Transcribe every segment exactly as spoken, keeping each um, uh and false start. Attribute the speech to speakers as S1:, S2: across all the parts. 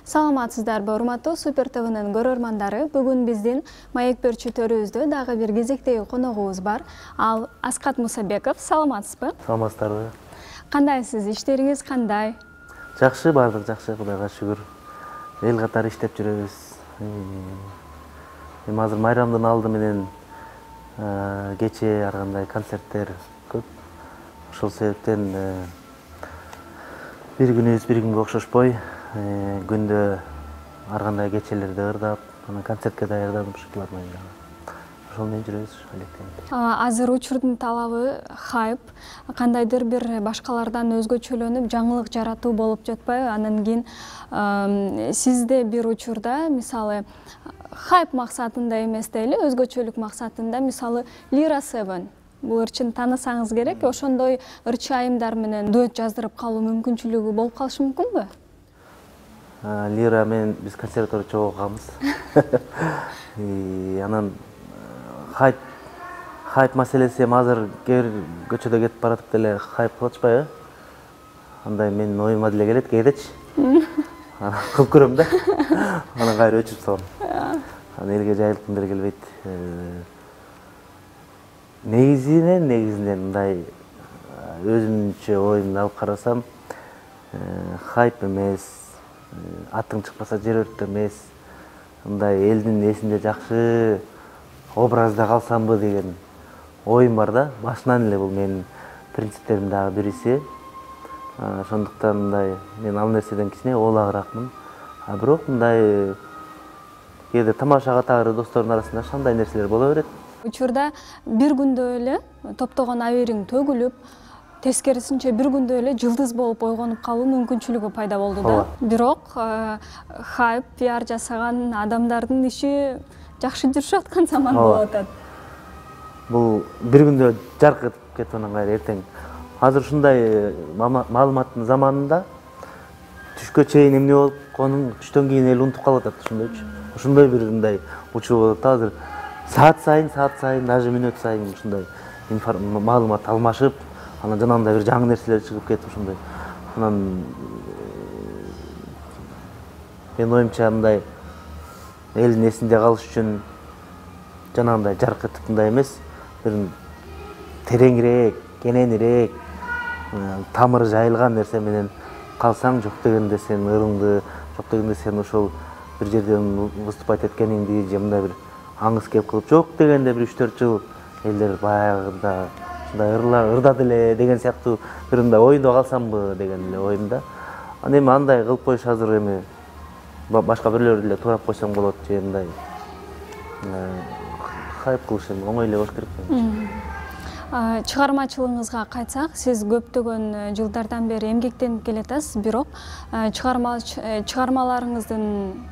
S1: Саламатсыздарбы, урматтуу Супер ТВнын көрөрмандары. Бүгүн биздин маек берчү төрүбүздө дагы бир кезектеги коногубуз бар. Ал Аскат Мусабеков. Саламатсызбы?
S2: Саламатсыздарбы?
S1: Кандайсыз? Иштериңиз кандай?
S2: Жакшы, баардык жакшы, Кудайга шүгүр. Эл катары иштеп жүрөбүз. Эми азыр майрамдын алды менен кече ар кандай концерттер көп. Ошол себептен бир күнүбүз бир күнгө окшошпой, күндө ар кандай кечелерди ырдап, анан концертке даярданып ушулар менен ошол менен жүрөбүз алектенип.
S1: Азыр учурдун талабы хайп, кандайдыр бир башкалардан өзгөчөлөнүп, жаңылык жаратуу болуп жатпайбы? Анан кийин сизде бир учурда, мисалы, хайп максатында эмес дейли, өзгөчөлүк максатында, мисалы, Лира Seven бул ырчын таанысаңыз керек, ошондой ырчы айымдар менен дуэт жаздырып калуу мүмкүнчүлүгү болуп калышы мүмкүнбү?
S2: Лира менен биз консерваторияда чогуу окуганбыз. Анан хайп хайп маселеси эми азыр кээ бир көчөдө кетип баратып деле хайп кылып атышпайбы? Андай менин оюма деле келет кээдечи. Анан кылып көрөм да. Анан кайра өчүрүп салам. Анан элге жайылткым деле келбейт. Негизинен, негизинен мындай өзүмчө оюмду алып карасам, хайп эмес, атың чыкпаса жер өрт эмес, мындай элдин эсинде жакшы образда калсамбы деген оюм бар да. Башынан эле бул менин принциптеримдин дагы бириси. Ошондуктан мындай мен ал нерседен кичине ooлагыракмын. А бирок мындай кээде тамашага тагыр достордун арасында ошондой нерселер боло берет.
S1: Учурда бир күндө эле топтогон абийириң төгүлүп, тескерисинче бир күндө эле жылдыз болуп ойгонуп калуу мүмкүнчүлүгү пайда болду да. Бирок хайп, пиар жасаган адамдардын иши жакшы жүрүшүп аткан заман болуп атат.
S2: Бул бир күндө жаркырап кетип анан кайра эртең. Азыр ушундай маалыматтын заманында түшкө чейин эмне болуп конун, түштөн кийин эл унутуп калып атат ошондойчу. Ошондой бир мындай учур болуп атат азыр. Саат сайын, саат сайын, даже мүнөт сайын ушундай маалымат алмашып, анан жанагындай бир жаңы нерселер чыгып кетип ошондой. Анан мен оюмча мындай элдин эсинде калыш үчүн жанагындай жарк этип мындай эмес, бир тереңирээк, кененирээк, тамыры жайылган нерсе менен калсаң, жок дегенде сен ырыңды, жок дегенде сен ошол бир жерден выступать эткениңди же мындай бир аңыз кеп кылып, жок дегенде бир үч төрт жыл элдер баягыда ушундай ырдады эле деген сыяктуу бир мындай оюнда калсамбы деген эле оюмда. Анан эми андай кылып коюш азыр эми башка бирлөрдү эле туурап койсоң болот же мындай хайп кылыш эми оңой эле болуш керек.
S1: Чыгармачылыгыңызга кайтсак, сиз көптөгөн жылдардан бери эмгектенип келатасыз, бирок чыгармаларыңыздын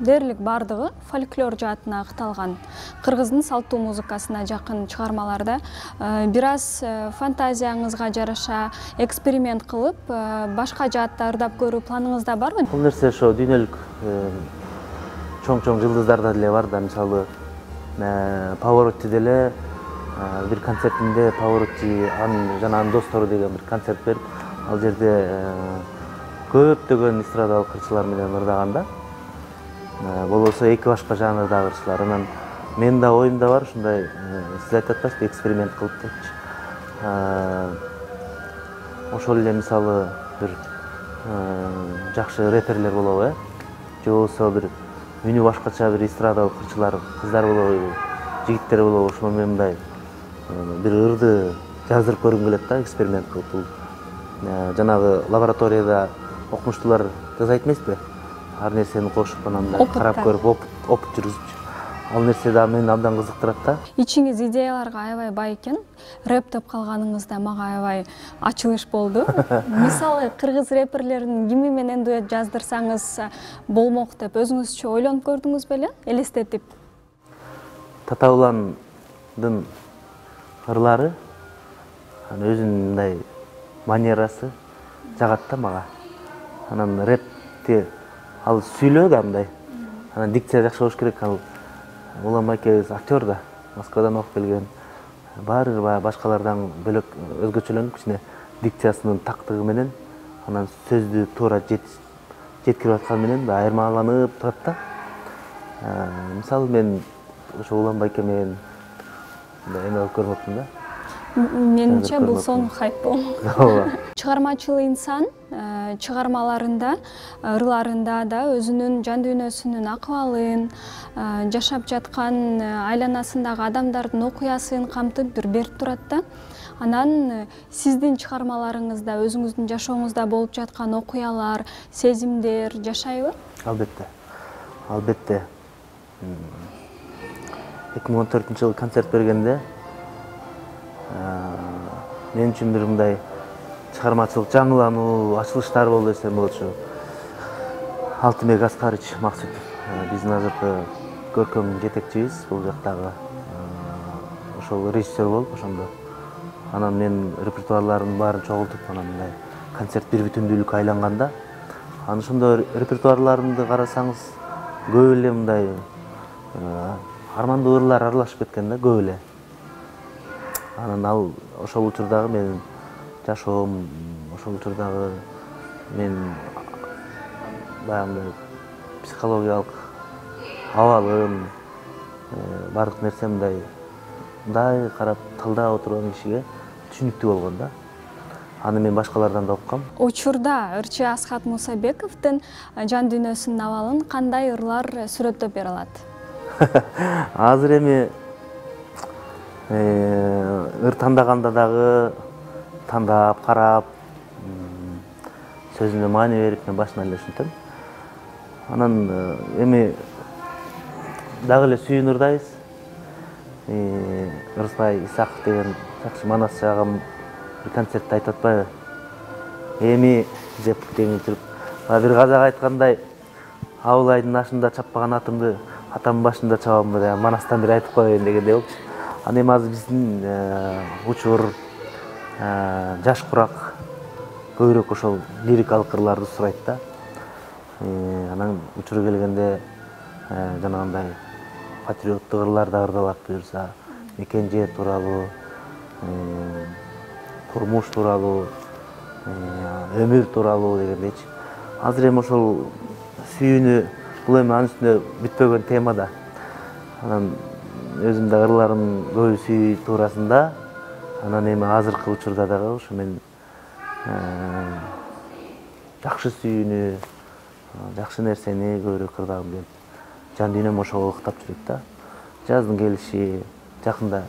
S1: дээрлик бардыгы фольклор жаатына агыталган, кыргыздын салттуу музыкасына жакын чыгармаларда. Бир аз фантазияңызга жараша эксперимент кылып, башка жаатта ырдап көрүү планыңызда барбы?
S2: Бул нерсе ошо дүйнөлүк чоң-чоң жылдыздарда деле бар да, мисалы Pavarotti деле бир концертинде Pavarotti анын жана анын достору деген бир концерт берип, ал жерде көптөгөн эстрадалык ырчылар менен ырдаган да. Болбосо эки башка жанрдагы ырчылар. Анан менин да оюмда бар ушундай, сиз айтып атпайсызбы, эксперимент кылып депчи. Ошол эле мисалы бир жакшы рэперлер болобу, же болбосо бир үнү башкача бир эстрадалык ырчылар, кыздар болобу, жигиттер болобу, ошол менен мындай бир ырды жаздырып көргүм келет да, эксперимент кылып. Бул жанагы лабораторияда окумуштуулар жасайт эмеспи? Ар нерсени кошуп, анан карап көрүп, опыт жүргүзүп. Ал нерсе да мени абдан кызыктырат да.
S1: Ичиңиз идеяларга аябай бай экен. Рэп деп калганыңызда мага аябай ачылыш болду. Мисалы, кыргыз рэперлерин кими менен дуэт жаздырсаңыз болмок деп өзүңүзчө ойлонуп көрдүңүз беле? Элестетип.
S2: Татауландын ырлары, өзүнүн мындай манерасы жагат да мага. Анан рэпти ал сүйлөө да мындай. Анан дикция жакшы болуш керек. Ал Улам экебиз актер да, Москвадан окуп келген. Баары башкалардан бөлөк өзгөчөлөнүп, кичине дикциясынын тактыгы менен анан сөздү туура жеткирип атканы менен айырмаланып турат да. Мисалы мен ошо Улан Байке менен эме алып көрүп атам да.
S1: Менимче бул сонун хайп болмок.
S2: Ооба.
S1: Чыгармачыл инсан чыгармаларында, ырларында да өзүнүн жан дүйнөсүнүн акыбалын, жашап жаткан айланасындагы адамдардын окуясын камтып бир берип турат да. Анан сиздин чыгармаларыңызда өзүңүздүн жашооңузда болуп жаткан окуялар, сезимдер жашайбы?
S2: Албетте. Албетте. эки миң он төртүнчү жылы концерт бергенде мен үчүн бир мындай чыгармачылык жаңылануу, ачылыштар болду десем болот. Ушу Алтынбек Аскарыч Максутов биздин азыркы көркөм жетекчибиз, бул жактагы ошол режиссер болуп ошондо. Анан мен репертуарларын баарын чогултуп, анан мындай концерт бир бүтүндүүлүккө айланганда, анан ошондо репертуарларымды карасаңыз, көп эле мындай армандуу ырлар аралашып кеткен да, көп эле. Анан ал ошол учурдагы менин жашоом, ошол учурдагы мен баягындай психологиялык абалым, бардык нерсе мындай мындай карап тылдап отурган кишиге түшүнүктүү болгон да. Аны мен башкалардан да уккам.
S1: Учурда ырчы Асхат Мусабековдун жан дүйнөсүнүн абалын кандай ырлар сүрөттөп бере алат?
S2: Азыр эми ыр тандаганда дагы тандап, карап, сөзүнө маани берип мен башынан эле ушинтем. Анан эми дагы эле сүйүүн ырдайбыз. Ырсай Исаков деген жакшы манасчы агам бир концертте айтып атпайбы? Эми деп жеңил туруп, бир казак айткандай, абыл айдын ашында чаппаган атымды атамдын башында чабамбы деген манастан бир айтып коеюн дегендей болчу. Аны эми азыр биздин учур, жаш курак көбүрөөк ошол лирикалык ырларды сурайт да. Анан учуру келгенде жанагындай патриоттук ырлар да ырдалат буюрса, мекен жер тууралуу, турмуш тууралуу, өмүр тууралуу дегендейчи. Азыр эми ошол сүйүүнү, бул эми анын үстүнө бүтпөгөн тема да. Анан өзүм да ырларым көбү сүйүү туурасында. Анан эми азыркы учурда дагы ушу мен жакшы сүйүүнү, жакшы нерсени көбүрөөк ырдагым келип, жан дүйнөм ошого ыктап жүрөт да. Жаздын келиши, жакында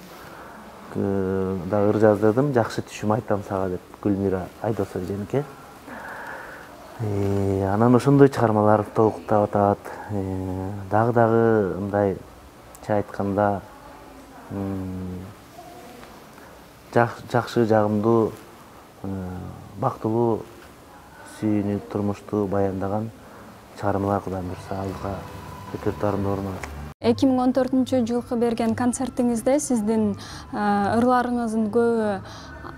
S2: да ыр жаздырдым, жакшы түшүм айтам сага деп, Гүлмира Айдосова Женке. Анан ошондой чыгармалар толуктап атат. Дагы дагы мындай айтканда жакшы, жагымдуу, бактылуу сүйүүнү, турмушту баяндаган чыгармалар Кудайым буйрса алдыга репертуарымда орун алат.
S1: эки миң он төртүнчү жылкы берген концертиңизде сиздин ырларыңыздын көбү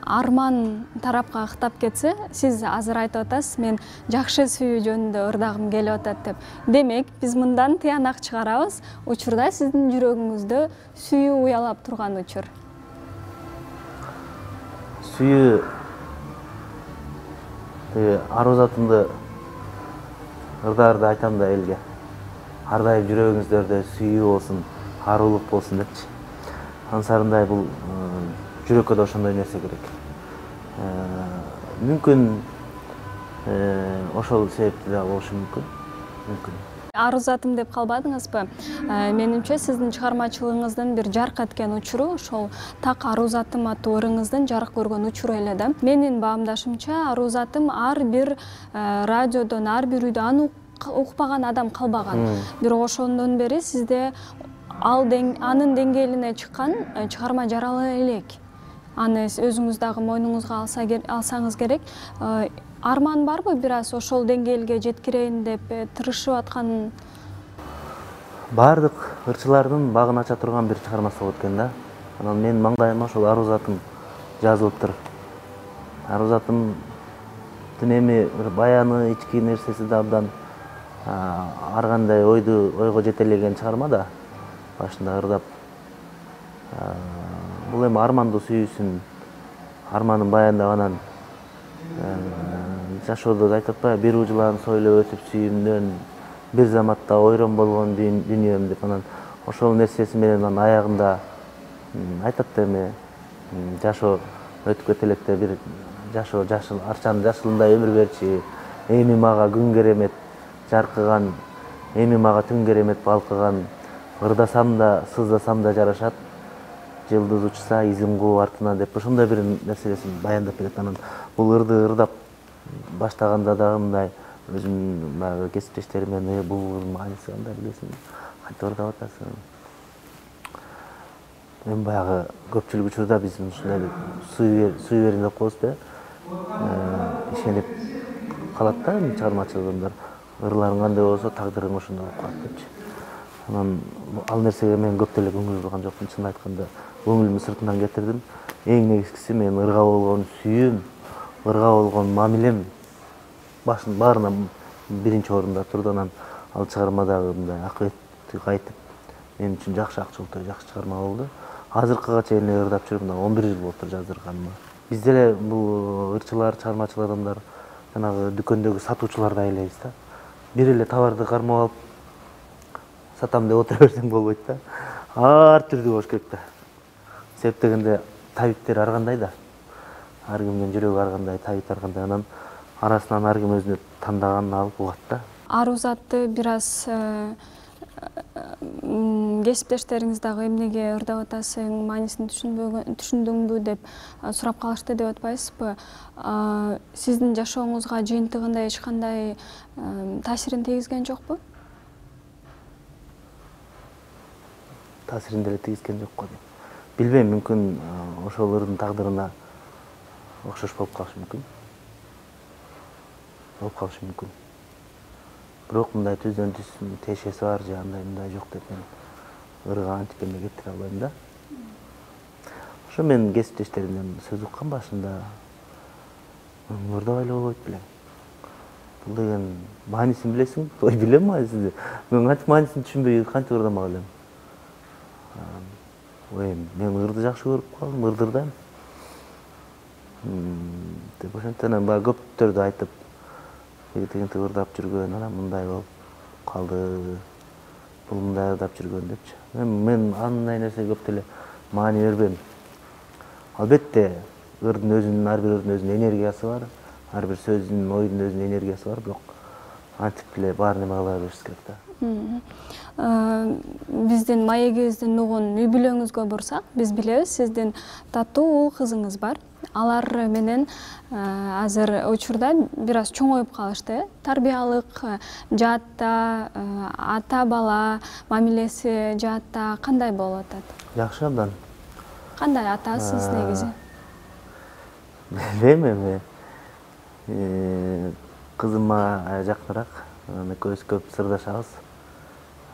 S1: арман тарапка ыктап кетсе, сиз азыр айтып атасыз, мен жакшы сүйүү жөнүндө ырдагым келип атат деп. Демек, биз мындан тыянак чыгарабыз. Учурда сиздин жүрөгүңүздө сүйүү уялап турган учур.
S2: Сүйүү ару затымды ырдаарда айтам да элге. Ар дайым жүрөгүңүздөрдө сүйүү болсун, арулук болсун депчи. Ансарындай бул жүрөккө да ошондой нерсе керек. Мүмкүн ошол себептүү да болушу мүмкүн. Мүмкүн.
S1: Ару затым деп калбадыңызбы? Менимче сиздин чыгармачылыгыңыздын бир жарк эткен учуру ошол так Ару затым аттуу ырыңыздын жарык көргөн учуру эле да. Менин баамдашымча, Ару затым ар бир радиодон, ар бир үйдө аны укпаган адам калбаган. Бирок ошондон бери сизде анын деңгээлине чыккан чыгарма жарала элек. Аны өзүңүз дагы мойнуңузга алсаңыз керек. Арман барбы бир аз ошол деңгээлге жеткирейин деп тырышып аткан?
S2: Бардык ырчылардын багын ача турган бир чыгармасы болот экен да. Анан менин маңдайыма ошол Ару затым жазылыптыр. Ару затым эми баяны, ички нерсеси да абдан ар кандай ойду ойго жетелеген чыгарма да. Башында ырдап. Бул эми армандуу сүйүүсүн, арманын баяндап анан жашоодо айтып атпайбы, бир ужулан сойлоп өтүп сүйүмдөн, бир заматта ойрон болгон дүйнөм деп, анан ошол нерсеси менен анан аягында айтат да эме жашоо өтүп кете электе бир жашоо жашыл арчанын жашылындай өмүр берчи, эми мага күн керемет жаркыган, эми мага түн керемет балкыган, ырдасам да сыздасам да жарашат, жылдыз учса изин кууп артынан деп ошондой бир нерселесин баяндап берет. Анан бул ырды ырдап баштаганда дагы мындай өзүмдүн баягы кесиптештерим менен бул ырдын мааниси кандай билесиң, кантип ырдап атасың. Эми баягы көпчүлүк учурда биз ушундай сүй берин деп коебуз да, ишенип калат да чыгармачыл адамдар. Ырларың кандай болсо тагдырың ошондой болуп калат депчи. Анан ал нерсеге мен көп деле көңүл бурган жокмун, чынын айтканда көңүлүмдү сыртынан кетирдим. Эң негизгиси мен ырга болгон сүйүүм, ырга болгон мамилем башын баарынан биринчи орунда турду. Анан ал чыгарма дагы мындай акыбетти кайтып мен үчүн жакшы акчолтой, жакшы чыгарма болду. Азыркыга чейин эле ырдап жүрүп, мына он бир жыл болуптур жаздырганыма. Биз деле бул ырчылар, чыгармачыл адамдар жанагы дүкөндөгү сатуучулардай элебиз да. Бир эле товарды кармап алып сатам деп отура берсең болбойт да. Ар түрдүү болуш керек да. Себеп дегенде табиптер ар кандай да. Ар кимдин жүрөгү ар кандай, табит ар кандай. Анан арасынан ар ким өзүнө тандаганын алып угат да.
S1: Аруу затты бир аз кесиптештериңиз дагы эмнеге ырдап атасың, маанисин түшүндүңбү деп сурап калышты деп атпайсызбы? Сиздин жашооңузга жыйынтыгында эч кандай таасирин тийгизген жокпу?
S2: Таасирин деле тийгизген жок го. Билбейм, мүмкүн ошол ырдын тагдырына окшош болуп калышы мүмкүн. Болуп калышы мүмкүн. Бирок мындай түздөн түз тиешеси бар же андай мындай жок деп мен ырга антип эме кетире албайм да. Ошо мен кесиптештеримден сөз уккан башында ырдабай эле болбойт белең. Бул деген маанисин билесиң? Ой, билем маанисин. Мен кантип маанисин түшүнбөй кантип ырдамак элем. Ой, мен ырды жакшы көрүп калдым, ырды ырдайм. Деп ошентен баягы көптөрдү айтып, тегинтип ырдап жүргөн, анан мындай болуп калды, бул мындай ырдап жүргөн депчи. Мен андай нерсеге көп деле маани бербейм. Албетте, ырдын өзүнүн, ар бир ырдын өзүнүн энергиясы бар, ар бир сөздүн, ойдун өзүнүн энергиясы бар, бирок антип эле баарын эме кыла бериш керек да.
S1: Биздин маегибиздин нугун үй бүлөңүзгө бурсак, биз билебиз, сиздин таттуу уул кызыңыз бар. Алар менен азыр учурда бир аз чоңоюп калышты. Тарбиялык жаатта, ата бала мамилеси жаатта кандай болуп атат?
S2: Жакшы абдан.
S1: Кандай атасыз негизи?
S2: Билбейм эми. Кызым мага жакыныраак. Экөөбүз көп сырдашабыз.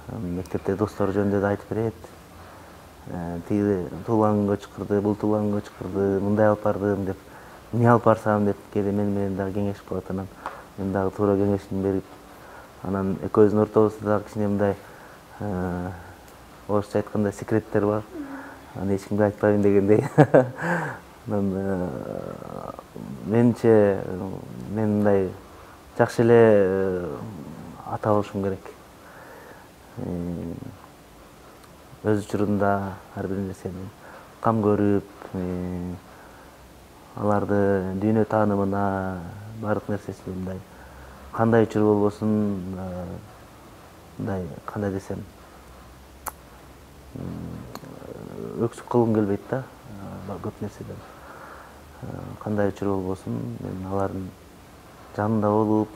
S2: Мектепте достор жөнүндө да айтып берет. Тиги туулган күнгө чакырды, бул туулган күнгө чакырды, мындай алып бардым деп, эмне алып барсам деп кээде мени менен дагы кеңешип калат. Анан мен дагы туура кеңешин берип, анан экөөбүздүн ортобузда дагы кичине мындай орусча айтканда секреттер бар. Аны эч кимге айтпайм дегендей. Анан менимче мен мындай жакшы эле ата болушум керек. Өз учурунда ар бир нерсени кам көрүп, аларды дүйнө таанымына, баардык нерсесине мындай кандай учур болбосун, мындай кандай десем, өксүк кылгым келбейт да, көп нерседен. Кандай учур болбосун, мен алардын жанында болуп,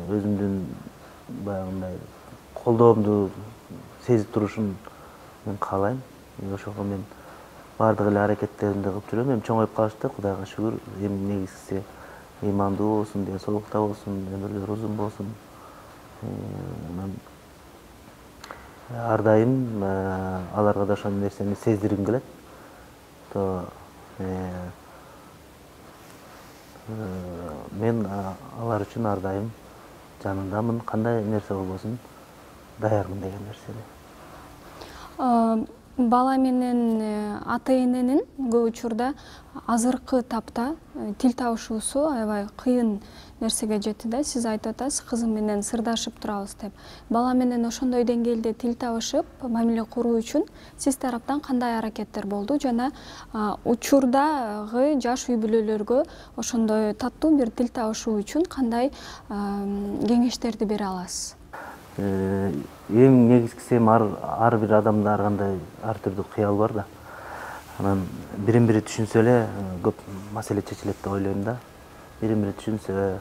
S2: өзүмдүн баягындай колдоомду сезип турушун мен каалайм. Ошого мен баардык эле аракеттеримди кылып жүрөм. Эми чоңоюп калышты, Кудайга шүгүр. Эми негизгиси ыймандуу болсун, ден соолукта болсун, өмүрлөрү узун болсун. Ар дайым аларга да ошол нерсени сездиргим келет. Мен алар үчүн ар дайым жанындамын, кандай нерсе болбосун даярмын деген нерсени.
S1: Бала менен ата эненин көп учурда азыркы тапта тил табышуусу аябай кыйын нерсеге жетти да. Сиз айтып атасыз, кызым менен сырдашып турабыз деп. Бала менен ошондой деңгээлде тил табышып, мамиле куруу үчүн сиз тараптан кандай аракеттер болду жана учурдагы жаш үй бүлөлөргө ошондой таттуу бир тил табышуу үчүн кандай кеңештерди бере аласыз?
S2: Эң негизгиси эми ар бир адамда ар кандай ар түрдүү кыял бар да. Анан бирин бири түшүнсө эле көп маселе чечилет деп ойлойм да. Бирин бири түшүнсө,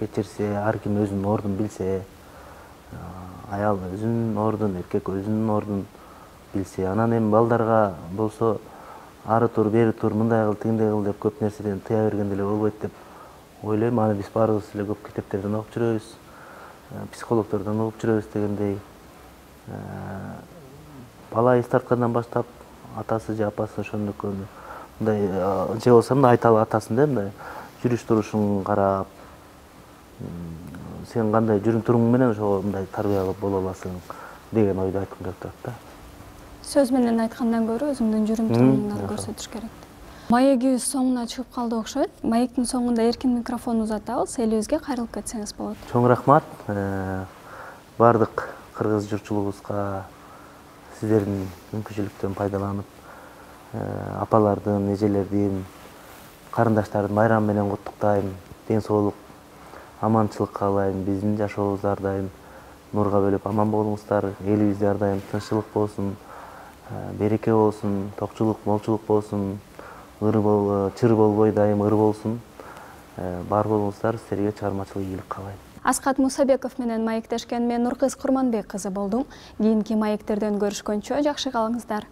S2: кечирсе, ар ким өзүнүн ордун билсе, аял өзүнүн ордун, эркек өзүнүн ордун билсе, анан эми балдарга болсо ары тур, бери тур, мындай кыл, тигиндей кыл деп көп нерседен тыя берген деле болбойт деп ойлойм. Аны биз баарыбыз эле көп китептерден окуп жүрөбүз, психологдордон угуп жүрөбүз дегендей. Бала эс тарткандан баштап атасы же апасы ошондук мындай же болбосо мындай айталы атасын да, мындай жүрүш турушун карап, сен кандай жүрүм туруң менен ошого мындай тарбия кылып боло аласың деген ойду айткым келип турат да.
S1: Сөз менен айткандан көрө өзүңдүн жүрүм туруңду көрсөтүш керек. Маегибиз соңуна чыгып калды окшойт. Маектин соңунда эркин микрофон узатабыз, элибизге кайрылып кетсеңиз болот.
S2: Чоң рахмат. Бардык кыргыз журтчулугубузга сиздердин мүмкүнчүлүктөн пайдаланып, апалардын, эжелердин, карындаштардын байрамы менен куттуктайм. Ден соолук, аманчылык каалайм. Биздин жашообуз ар дайым нурга бөлөп аман болуңуздар. Элибизде ар дайым тынччылык болсун, береке болсун, токчулук, молчулук болсун. Чыр болбой дайым ыр болсун. Бар болуңуздар, силерге чыгармачылык ийгилик каалайм.
S1: Аскат Мусабеков менен маектешкен мен Нуркыз Курманбек кызы болдум. Кийинки маектерден көрүшкөнчө жакшы калыңыздар.